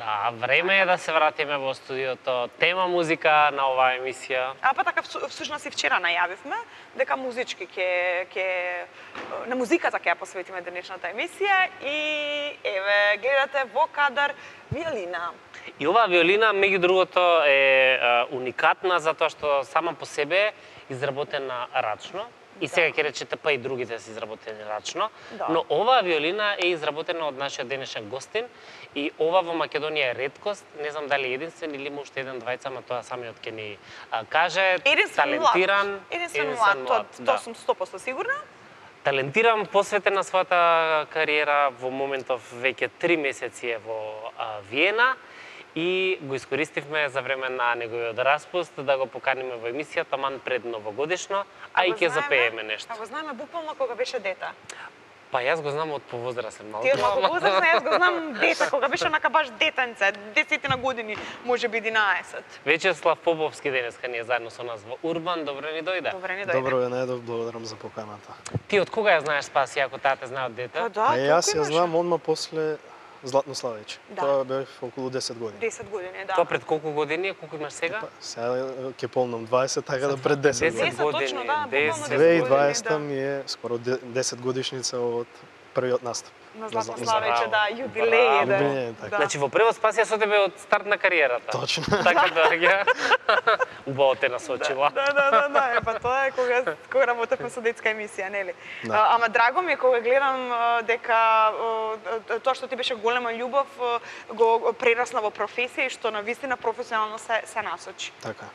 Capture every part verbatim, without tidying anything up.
Да, време е да се вратиме во студиото. Тема музика на оваа емисија. А па така всушност и вчера најавивме дека музички ќе ќе на музиката ќе ја посветиме денешната емисија и еве гледате во кадар виолина. И оваа виолина меѓу другото е а, уникатна затоа што сама по себе е изработена рачно. И сега ќе речете па и другите се изработени рачно, да. Но оваа виолина е изработена од нашиот денешен гостин и ова во Македонија е реткост, не знам дали единствен или има уште еден двајца, ама тоа самиот ќе ни а, каже, единствен талентиран, единствен млад, тоа да. тоа сум сто проценти сигурна. Талентиран, посветен на својата кариера, во моментов веќе три месеци е во а, Виена и го искористивме за време на неговиот распуст да го поканиме во емисијата ман пред новогодишно, а, а и ќе запееме нешто. А го знаеме буквално кога беше дете. Па јас го знам од повозрасен малку. Ти од малку повозрасен, јас го знам дете, кога беше онака баш детенце, десетина години, можеби единаесет. Вечеслав Поповски денеска ни е заедно со нас во Урбан, добро ни дојде. Добро ни дојде. Добро ја најдов, благодарам за поканата. Ти од кога ја знаеш Спаси, ако таа те знае од дете? Па да, а јас ја знам одма после Златно Славејче. Да. Тоа бев околу десет години. десет години, да. Тоа пред колку години, колку имаш сега? Па, сега ќе полнам дваесет, така да пред десет години. десет точно, да, буквално десет. две и години, дваесета да. ми е скоро десет годишница од првиот настап. На Златно Златно Славејче, да, Браво. јубилеј Браво. е, така. да. Значи во превод Спасија со тебе од старт на кариерата. Точно. Така да ја убаво те насочила. Да, да, да, да, е, па тоа е кога кога работевме со детска емисија, нели? Да. А, ама драго ми е кога гледам а, дека а, тоа што ти беше голема љубов а, го прерасна во професија и што на вистина професионално се се насочи. Така.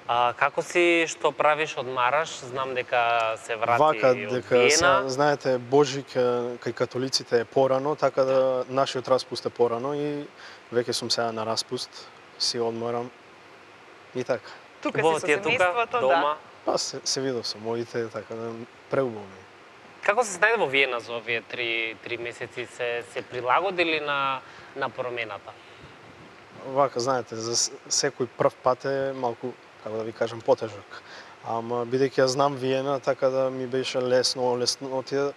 А како си, што правиш, одмараш? Знам дека се врати Вака, од дека Виена. са, знаете, Божик е, кај католиците е порано, така да нашиот распуст е порано и веќе сум сега на распуст, си одморам и така. Тука Убаво си ти со е тука, семејството, дома. да. Па се, се видов со моите, така да преубаво ми. Како се снајде во Виена за овие три, три месеци? Се, се прилагодили на, на промената? Вака, знаете, за с- секој прв пат е малку, како да ви кажам, потежок. Ама бидејќи ја знам Виена, така да ми беше лесно, лесно отида,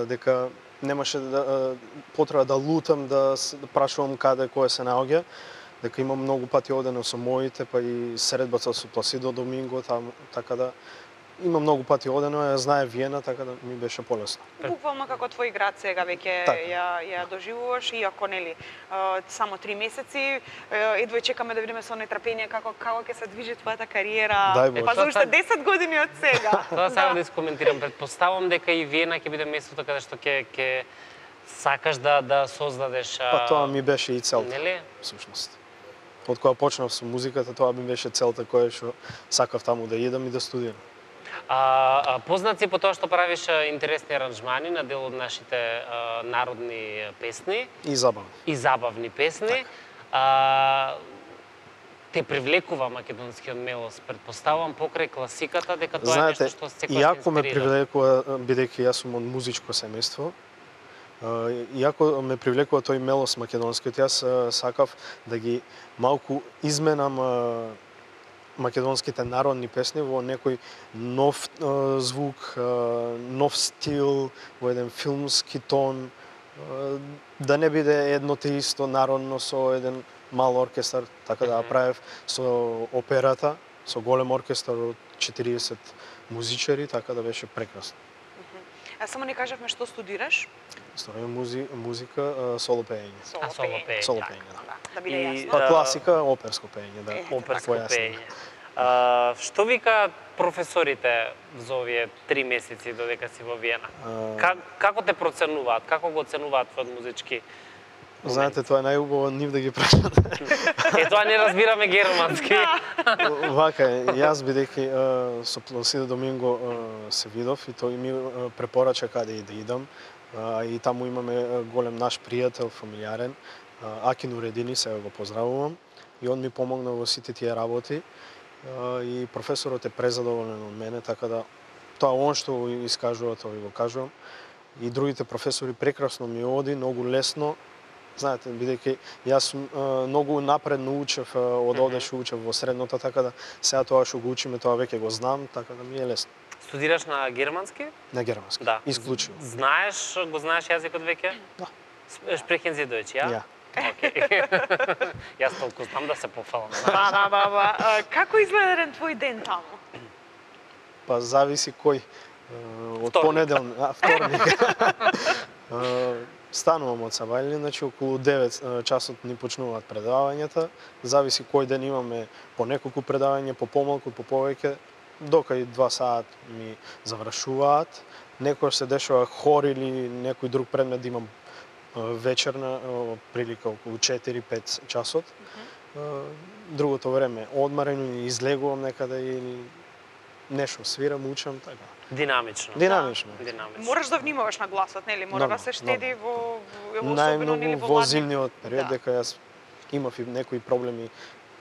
дека немаше да, потреба да лутам, да, с- да прашувам каде кој се наоѓа, дека имам многу пати одено со моите, па и средбата со Пласидо Доминго, таму, така да има многу пати одено, ја знае Виена, така да ми беше полесно. Буквално како твој град сега веќе Така. ја ја доживуваш, иако нели а, само три месеци, а, едва чекаме да видиме со нетрпение како како ќе се движи твојата кариера. Дај Боже. Па за уште десет години од сега. Тоа сега да искоментирам. Предпоставам дека и Виена ќе биде местото каде што ќе ќе сакаш да да создадеш. а, Па тоа ми беше и целта, Нели? всушност. Од кога почнав со музиката, тоа ми беше целта која што сакав таму да идам и да студирам. А, а познат си по тоа што правиш а, интересни аранжмани на дел од нашите а, народни песни И забавно. и забавни песни. Така. А, те привлекува македонскиот мелос, предпоставувам покрај класиката дека тоа Знаете, е нешто што секој иако ме привлекува, бидејќи јас сум од музичко семејство, а, иако ме привлекува тој мелос македонскиот, јас а, сакав да ги малку изменам а, македонските народни песни во некој нов а, звук, а, нов стил, во еден филмски тон, а, да не биде едно те исто народно со еден мал оркестар, така да ја правев со операта, со голем оркестар од четириесет музичари, така да беше прекрасно. А само ни кажавме што студираш? Историја музи, музика, а, соло пеење. А, соло пеење. Соло така. пеење, да. Да, да биде И- јасно. Па Да. класика, оперско пеење, да. Е, Оперско Појаснам. пеење. А, што вика професорите за овие три месеци додека си во Виена? А, Как, како те проценуваат? Како го оценуваат твојот музички? Знаете, тоа е најубаво нив да ги прашате. Е, тоа не разбираме германски. Вака е, јас бидејќи а, со Пласидо Доминго а, се видов и тој ми а, препорача каде и да идам. А, и таму имаме а, голем наш пријател, фамилиарен, а, Акин Уредини, сега го поздравувам. И он ми помогна во сите тие работи. А, и професорот е презадоволен од мене, така да тоа он што го искажува, тоа ви го кажувам. И другите професори прекрасно ми оди, многу лесно. Знаете, бидејќи јас сум а, многу напредно учев, а, од овде што учев во средното, така да сега тоа што го учиме, тоа веќе го знам, така да ми е лесно. Студираш на германски? На германски. Да. Исклучиво. Знаеш, го знаеш јазикот веќе? Да. Sprechen Sie Deutsch, ja? Ja. Океј. Јас толку знам да се пофалам. Ба, ба, ба, ба. А, Како изгледа еден твој ден таму? Па зависи кој. Од Вторник. понеделник, а, вторник. Е, Станувам од Сабајлин, значи околу девет е, часот ни почнуваат предавањата. Зависи кој ден имаме по неколку предавања, по помалку, по повеќе, дока и два саат ми завршуваат. Некој се дешава хор или некој друг предмет да имам е, вечерна е, прилика околу четири-пет часот. Е, Другото време одмарено, излегувам некаде или нешто свирам, учам, така. Динамично. Динамично. Динамично. Мораш да внимаваш на гласот, нели? Мора да Много, се штеди во, во особено Најмногу нели во во ладни- зимниот период, Да. дека јас имав и некои проблеми,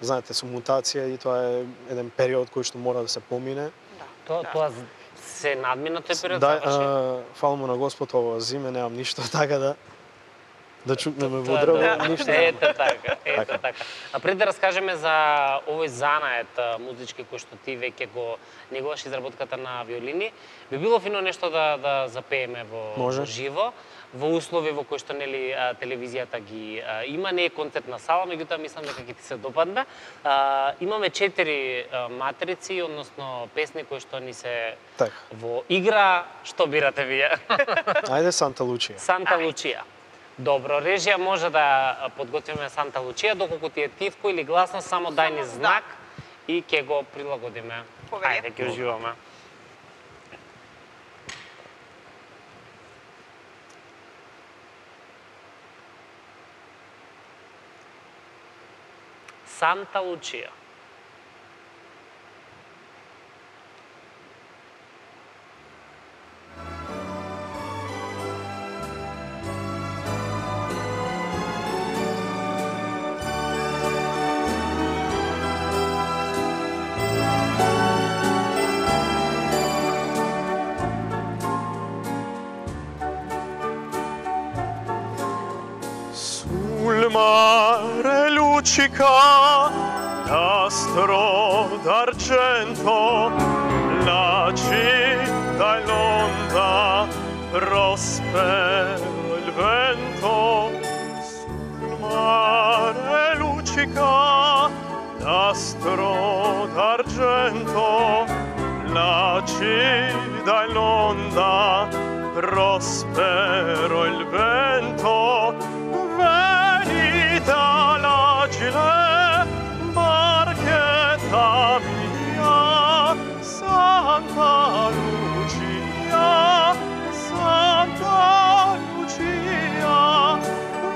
знаете, со мутација и тоа е еден период кој што мора да се помине. Да. Тоа да. тоа се надмина тој период Да, заврши. а, фала му на Господ, ова зиме немам ништо, така да да чукнеме во Тоа дрво, да. ништо. немам. Ете така, ете Така. така. А пред да раскажеме за овој занает а, музички кој што ти веќе го негуваш изработката на виолини, би било фино нешто да да запееме во, Може. во живо, во услови во кои што нели а, телевизијата ги а, има, не е концертна сала, меѓутоа мислам дека ќе ти се допадне. А, имаме четири а, матрици, односно песни кои што ни се Така. во игра, што бирате вие? Ајде Санта Лучија. Санта Лучија. Добро, режија може да подготвиме Санта Лучија, доколку ти е тивко или гласно, само дај ни Само, знак и ќе го прилагодиме. Повели. Ајде, ќе уживаме. Санта Лучија. Sul mare luccica l'astro d'argento, la città in onda prospero il vento. Sul mare luccica l'astro d'argento, la città in onda prospero il vento. Venita l'agile barchetta mia, Santa Lucia, Santa Lucia.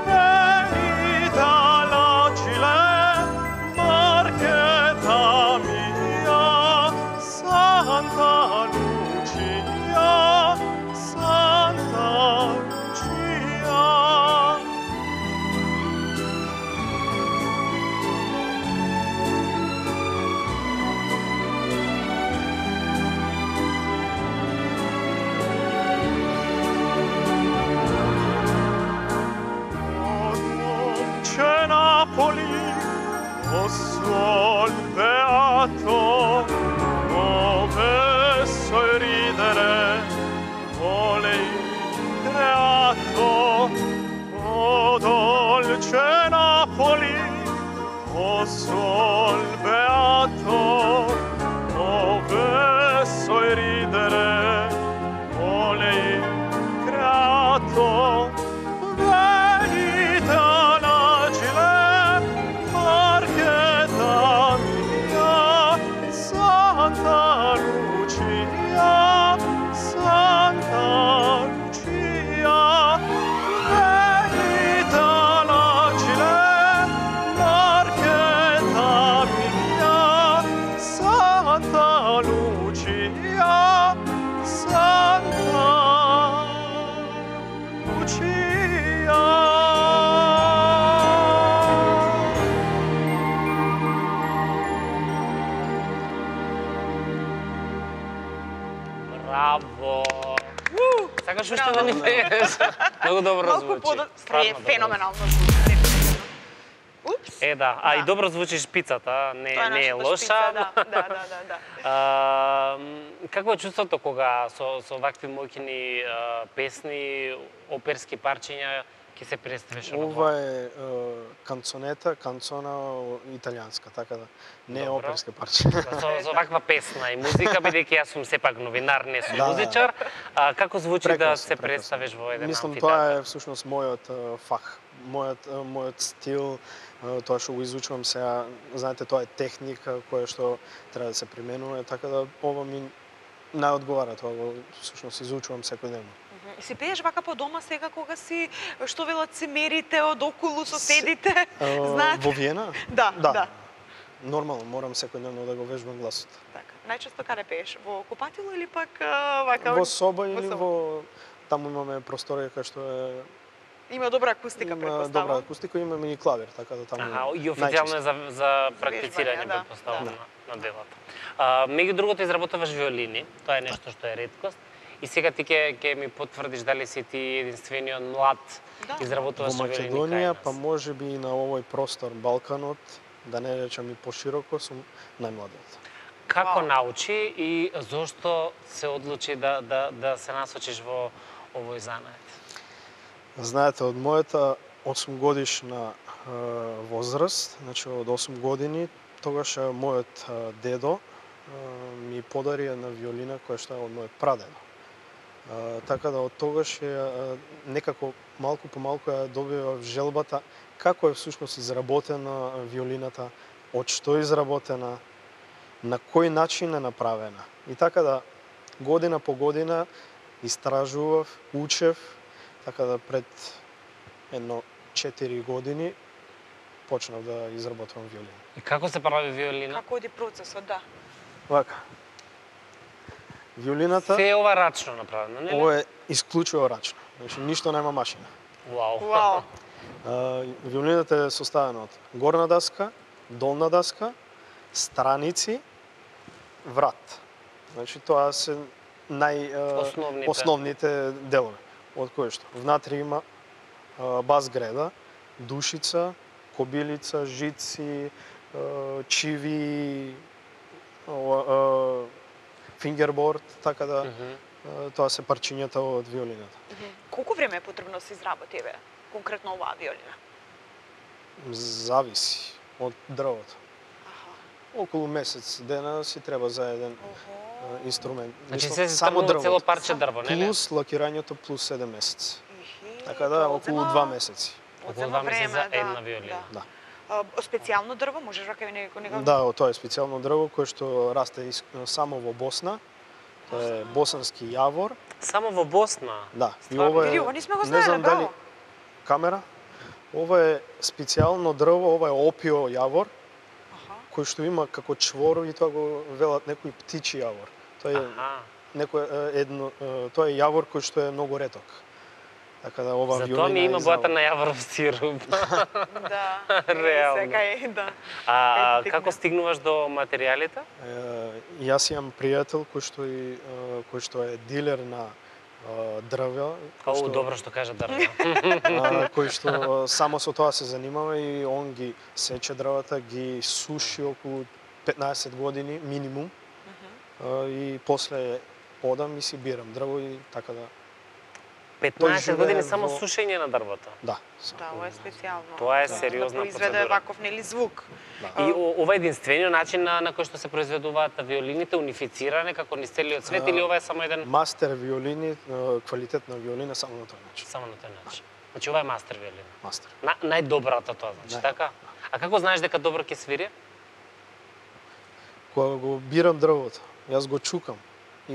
Venita l'agile barchetta mia, Santa Lucia, Santa Lucia. C'è Napoli, o sol beato, dove so ridere, vole il creato. O dolce Napoli, o sol beato, dove so ridere, vole il creato. Venita l'agile barchetta mia, Santa Lucia, Santa Lucia. Venita l'agile barchetta mia, Santa Lucia, Santa Lucia. Браво! Сакаш уште Браво. да ни пееш? Многу добро Малку звучи. подо... Стварно Фе, добро феноменално звучи. Упс. Е, да. А Да. и добро звучиш пицата, не, Тоа е не е нашата лоша. шпица, да, да, да, да, да. А, м, какво е чувството кога со, со вакви моќни а, песни, оперски парчиња ќе се представиш од Ова е е, канцонета, канцона италијанска, така да не е Добро. оперска парче. со, со ваква песна и музика, бидејќи јас сум сепак новинар, не сум Да, да. музичар, а, како звучи да Прекрасно, се прекрасно. представиш во еден Мислам, амфитеатар? тоа е всушност мојот е, фах, мојот е, мојот стил, е, тоа што го изучувам сега, знаете, тоа е техника која што треба да се применува, така да ова ми најодговара, тоа го всушност изучувам секојдневно. И си пееш вака по дома сега кога си, што велат, си мерите од околу соседите, Е, знаете? Во Виена? Да, да. Нормално, морам секојдневно да го вежбам гласот. Така. Најчесто каде пееш? Во купатило или пак а, вака? Во соба во или соба. во таму имаме просторија кај што е Има добра акустика, има добра претпоставам. акустика, имаме и клавир, така да таму. Аха, и официјално е најчесто. за, за практицирање, да, предпоставам, да. на, на делата. А, меѓу другото, изработуваш виолини, тоа е нешто што е реткост. И сега ти ќе ќе ми потврдиш дали си ти единствениот млад Да. изработуваш Во виолини Македонија, кај нас. па може би и на овој простор Балканот, да не речам и пошироко, сум најмладиот. Како Вау. научи и зошто се одлучи да, да, да се насочиш во овој занает? Знаете, од мојата осум годишна е, возраст, значи од осум години, тогаш е, мојот е, дедо е, ми подари една виолина која што е од мојот прадедо. Е, така да од тогаш е, е, некако малку по малку ја добивав желбата како е всушност изработена виолината, од што е изработена, на кој начин е направена. И така да година по година истражував, учев, така да пред едно четири години почнав да изработувам виолина. И како се прави виолина? Како оди процесот, да. Вака. Виолината, Се е ова рачно направено, нели? ова е исклучиво рачно. Значи ништо нема машина. Вау. Вау. А, виолината е составена од горна даска, долна даска, страници, врат. Значи тоа се нај а, Основните. основните делови. Од кои што внатре има а, бас греда, душица, кобилица, жици, а, чиви, ова, а, фингерборд, така да Мгм. а, тоа се парчињата од виолината. Колку време е потребно да се изработи еве конкретно оваа виолина? Зависи од дрвото. Аха. Околу месец дена си треба за еден Охо. а, инструмент. Значи Мислам, се ставува цело парче дрво, нели? Плюс лакирањето плюс седем месеци. Ихи, Така да тоа околу одзема- два месеци. Околу одзема два месеци време, за да, една виолина. Да. А, специјално дрво, можеш рака некој некој Да, тоа е специјално дрво кое што расте ис- само во Босна. Тоа е босански јавор. Само во Босна. Да. И Стварно? ова Види, е ова не сме го не знаеле, знам браво. дали камера. Ова е специјално дрво, ова е опио јавор Аха. кој што има како чвор и тоа го велат некој птичи јавор. Тоа е Аха. некој е, едно е, тоа е јавор кој што е многу реток. Така да ова Затоа виолина ми има е бојата изработена. на јавров сируп. Да. Реално. Сега е, да. А Кај ти како текне. стигнуваш до материјалите? Е, Јас имам пријател кој што и е, кој што е дилер на е, дрвја, кој О, што, добро што кажа дрво. а, кој што само со тоа се занимава и он ги сече дрвата, ги суши околу петнаесет години минимум. А, и после одам и си бирам дрво и така да петнаесет живее години само во- сушење на дрвото. да. Да, ова е специјално. Тоа е Да, сериозна да произведе процедура. ваков нели звук. Да. И о- ова е единствениот начин на, на кој што се произведуваат виолините, унифициране како низ целиот свет, А, или ова е само еден Мастер виолини, е, квалитет на виолина само на тој начин. само на тој начин? Значи ова е мастер виолина. Мастер. На, најдобрата тоа, значи, Нај- така? А како знаеш дека добро ќе свири? Кога го бирам дрвото, јас го чукам и,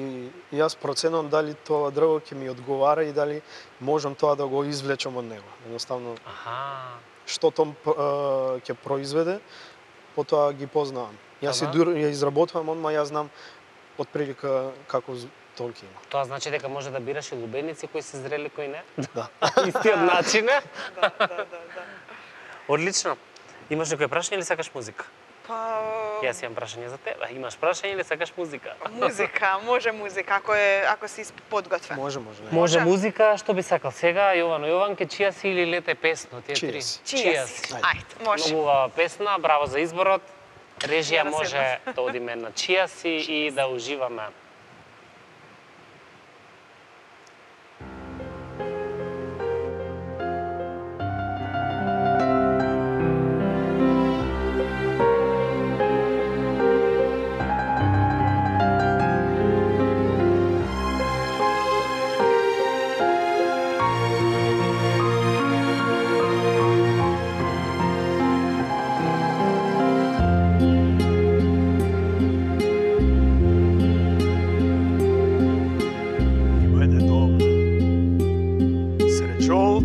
и јас проценувам дали тоа дрво ќе ми одговара и дали можам тоа да го извлечам од него. Едноставно, Аха. што том п- е, ќе произведе, потоа ги познавам. Јас и Ага. дур ја изработувам, одма јас знам отприлика каков тон ќе има. Тоа значи дека може да бираш и лубеници кои се зрели, кои не? Да. Истиот начин е? Да, да, да, да. Одлично. Имаш некој прашање или сакаш музика? Па Јас имам прашање за тебе. Имаш прашање или сакаш музика? музика, може музика ако е ако си подготвен. Може, може. Не. Може Може. музика, што би сакал сега? Јовано Јованке, чија си или лете песно? Тие Чија три. си. Чија си? Ајде, може. Многу убава песна, браво за изборот. Режија Ја да може да одиме на чија си и да уживаме.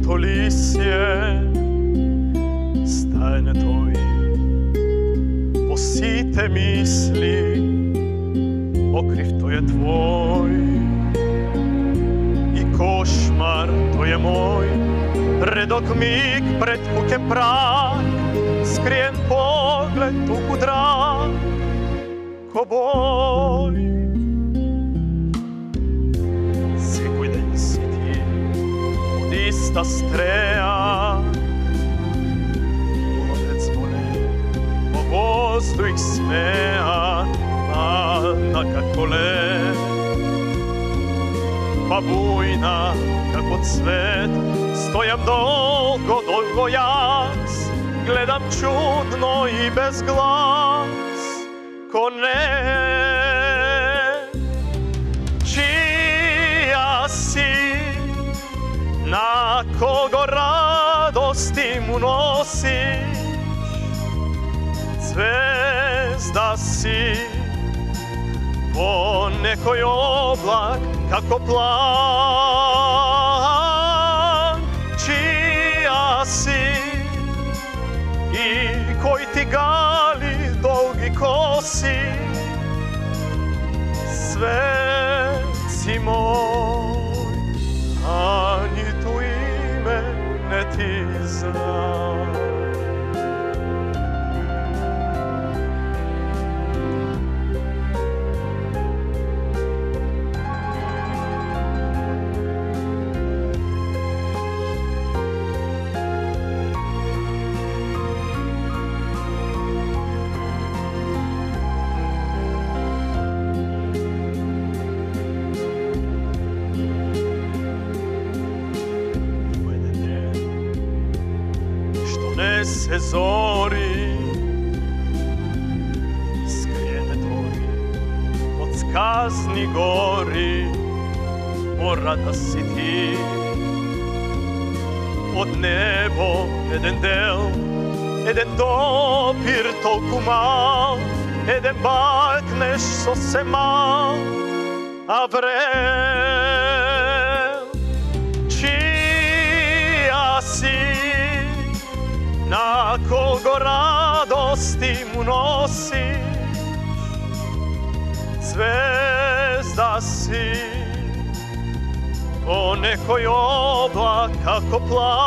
Моето лисје стане тој во сите мисли, покрив тој е твој и кошмар тој е мој. Редок миг пред куќен праг, скриен поглед туку драг, ко бој. Секој ден си ти од иста стреја, ловец воле, во воздух смеа, млада како лед, па бујна како цвет. Стојам долго, долго јас, гледам чудно и без глас, ко не. Чија си, на кого радости му носиш, звезда си, во некој облак како план. Чија си и кој ти гали долги коси, свет си мој, а ниту име не ти знам. Се зори, скриене тој од сказни гори, мора да си ти. Од небо еден дел, еден допир толку мал, еден бакнеш сосем мал, а врел. Чија си, на кого радости му носиш, звезда си, во некој облак како план.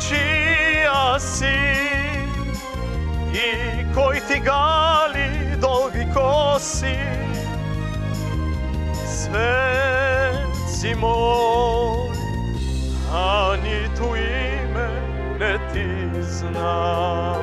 Чија си и кој ти гали долги коси, свет си мој, а ниту име не ти знам.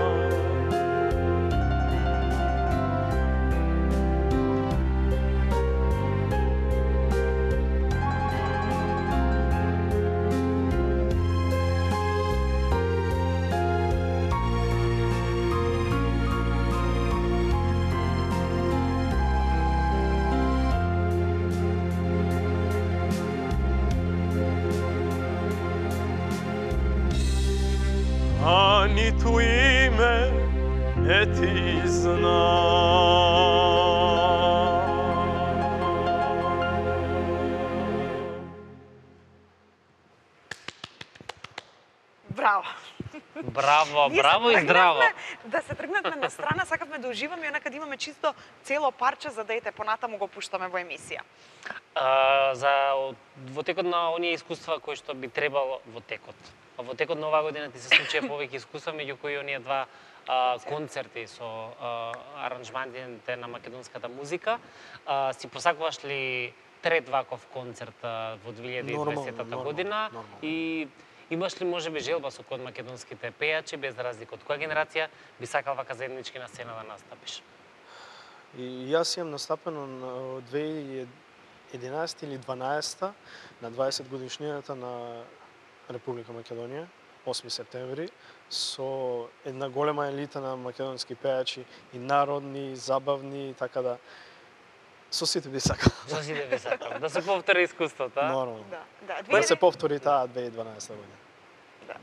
А ниту име не ти знам. Браво! Браво, Ние браво се и здраво. тргнавме Да се тргнатме на страна, сакавме да уживаме и онака да имаме чисто цело парче за да ете понатаму го пуштаме во емисија. А, за во текот на оние искуства кои што би требало во текот. Во текот на оваа година ти се случија повеќе искуства, меѓу кои оние два а, концерти со а, аранжмантите на македонската музика. А, си посакуваш ли трет ваков концерт а, во две илјади и дваесета година? Нормално. И имаш ли можеби желба со код македонските пејачи, без разлика од која генерација би сакал вака заеднички на сцена да настапиш? И јас имам настапено на две илјади и единаесета или дванаесета на дваесет годишнината на Република Македонија, осми септември, со една голема елита на македонски пејачи и народни, и забавни, така да со сите би сакал. Со сите би сакал. Да се повтори искуството, а? Нормално. Да, да. Да се повтори таа две илјади и дванаесета година. Да,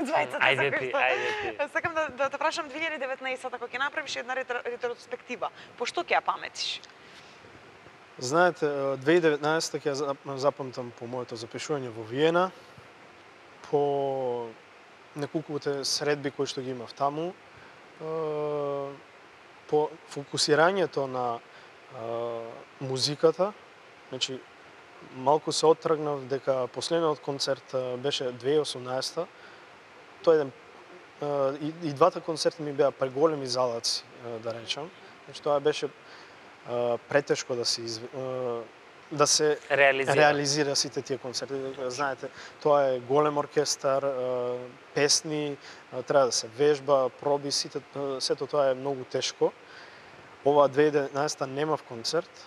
двајцата Ајде сакаш ти, да- ајде ти. Сакам да, да те прашам две илјади и деветнаесета, кога ќе направиш една ретро- ретроспектива, по што ќе ја паметиш? Знаете, две илјади и деветнаесетта ќе ја запамтам по моето запишување во Виена, по неколкуте средби кои што ги имав таму, по фокусирањето на музиката. Значи, малку се оттргнав дека последниот концерт беше две илјади и осумнаесетта. Тој еден и, и двата концерти ми беа преголеми залаци, да речам. Значи, тоа беше претешко да се изв... да се реализира. реализира сите тие концерти. Знаете, тоа е голем оркестар, песни, треба да се вежба, проби, сите, сето тоа е многу тешко. Ова две илјади и деветнаесетта немав концерт,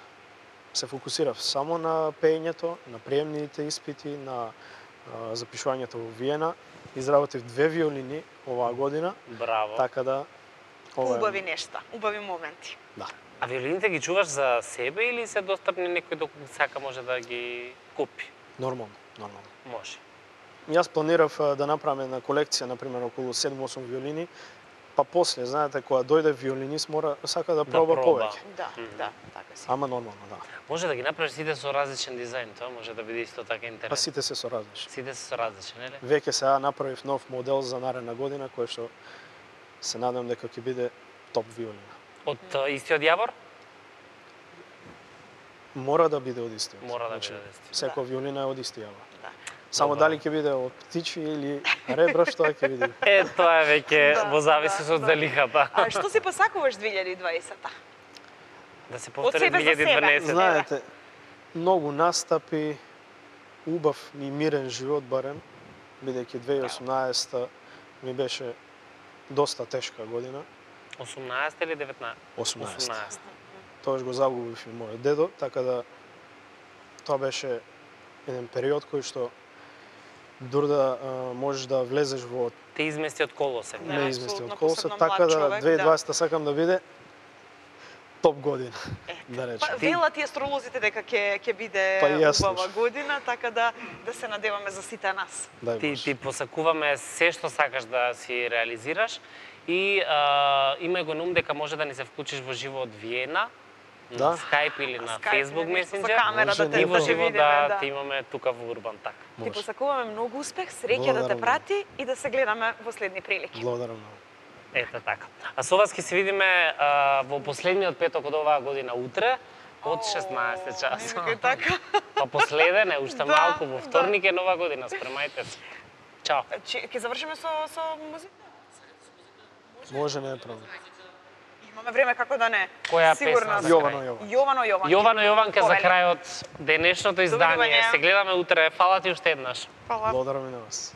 се фокусирав само на пеењето, на приемните испити, на запишувањето во Виена. Изработив две виолини оваа година. Браво. Така да ова е... Убави нешта, убави моменти. Да. А виолините ги чуваш за себе или се достапни некој доколку сака може да ги купи? Нормално, нормално. Може. Јас планирав да направам една колекција, например, околу седум-осум виолини, па после, знаете, кога дојде виолинист, мора сака да проба, да проба. повеќе. Да, mm -hmm. да, така си. Ама нормално, да. Може да ги направиш сите со различен дизајн, тоа може да биде исто така интересно. Па сите се со различни. Сите се со различен, нели? Веќе сега направив нов модел за наредна година, кој што се надевам дека ќе биде топ виолина. Од истиот јавор? Мора да биде од истиот. Мора да Значи, биде од истиот. Секоја виолина е од исти јавор. Да. Само Добро. дали ќе биде од птичи или ребра, што ќе биде. Е, тоа е веќе Да, во зависи да, од да. залихата. А што си посакуваш две илјади и дваесетта? Да се Од повтори себе за две илјади и дванаесетта. себе. Знаете, многу настапи, убав и мирен живот барем, бидејќи две илјади и осумнаесетта ми беше доста тешка година. осумнаесетта или деветнаесетта? осумнаесетта. осумнаесетта. Тоаш го загубив и мојот дедо, така да тоа беше еден период кој што дур да а, можеш да влезеш во Те измести од колосек. Да, не измести апсолутно, од колосот, посебно така млад да човек, две илјади и да. дваесетта сакам да биде топ година, да Па речем. велат и астролозите дека ќе ќе биде Па и јас убава слушам. година, така да да се надеваме за сите нас. Дај Ти, Боже. ти посакуваме се што сакаш да си реализираш и а, имај го на ум дека може да ни се вклучиш во живо од Виена, Да. на Skype или на Skype, Facebook нешто со Messenger. камера да те- и во да те живо видиме, да, да. те имаме тука во Урбан так. Ти Може. посакуваме многу успех, среќа да те Благодарам. прати и да се гледаме во следни прилики. Благодарам многу. Ете така. А со вас ќе се видиме а, во последниот петок од оваа година утре од шеснаесет часа. Не, така. Па последен е уште Да, малку, во да. вторник е нова година, спремајте се. Чао. Че ќе завршиме со со музика? Може, не е проблем. Имаме време, како да не. Која Сигурна песна за сум. Јовано, крај? Јовано. Јовано Јован. Јовано Јованке за Повели. крајот денешното издание. Довидување. Се гледаме утре. Фала ти уште еднаш. Фала. Благодарам и на вас.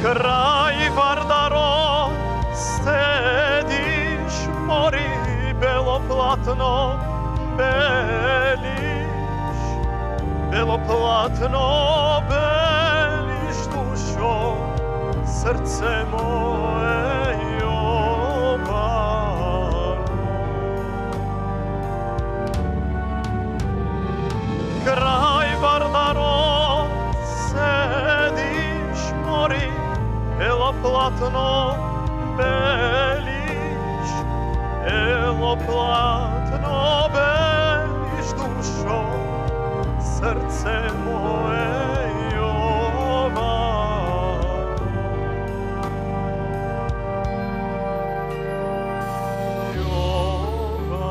Крај Вардаро седиш, мори бело платно, белиш, бело платно, белиш душо, срце мое Јовано. Крај Вардаро седиш, мори бело платно, белиш, бело платно, белиш душо, срце мое Јовано. Јовано.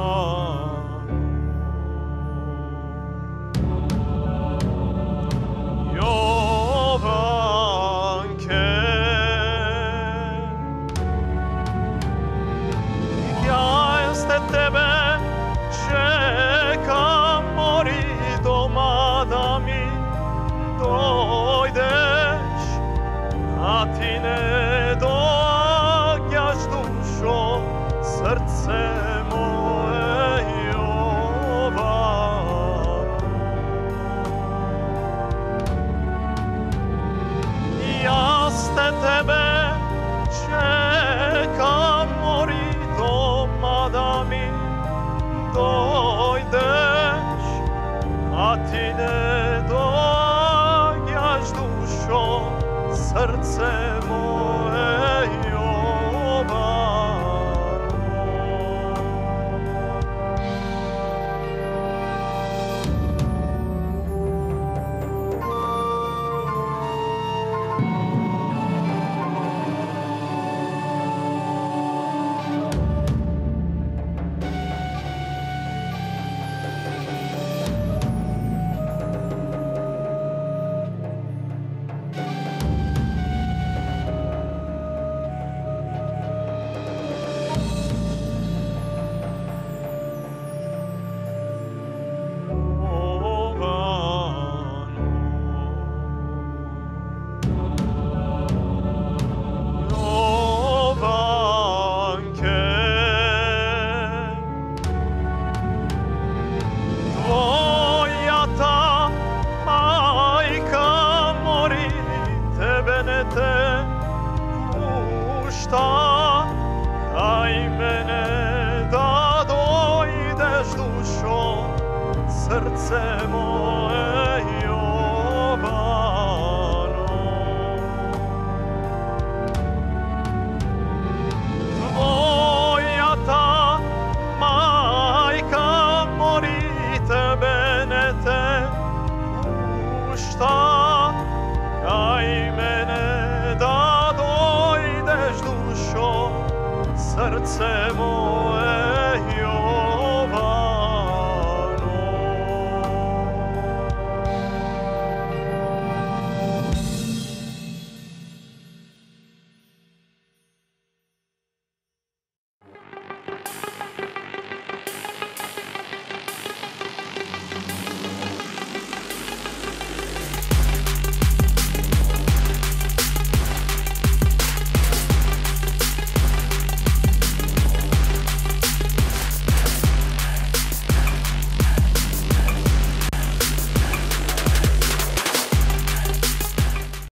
srce moje Jovano. Tvoja ta majka mori tebe ne te pušta, kaj mene da dojdeš dušo, srce moje